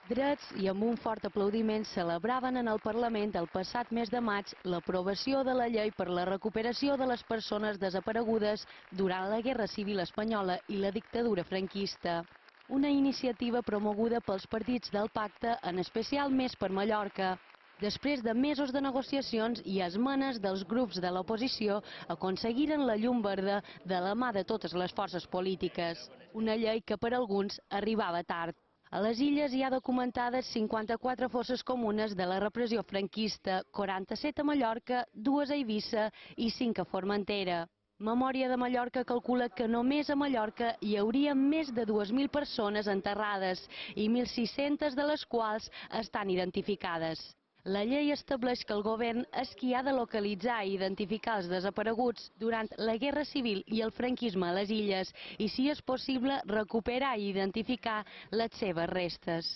Drets i amb un fort aplaudiment celebraven en el Parlament el passat mes de maig l'aprovació de la llei per la recuperació de les persones desaparegudes durant la Guerra Civil Espanyola i la dictadura franquista. Una iniciativa promoguda pels partits del pacte, en especial Més per Mallorca. Després de mesos de negociacions i esmenes dels grups de l'oposició, aconseguiren la llum verda de la mà de totes les forces polítiques. Una llei que per alguns arribava tard. A les illes hi ha documentades 54 fosses comunes de la repressió franquista, 47 a Mallorca, 2 a Eivissa i 5 a Formentera. Memòria de Mallorca calcula que només a Mallorca hi hauria més de 2.000 persones enterrades i 1.600 de les quals estan identificades. La llei estableix que el govern és qui ha de localitzar i identificar els desapareguts durant la Guerra Civil i el franquisme a les illes i, si és possible, recuperar i identificar les seves restes.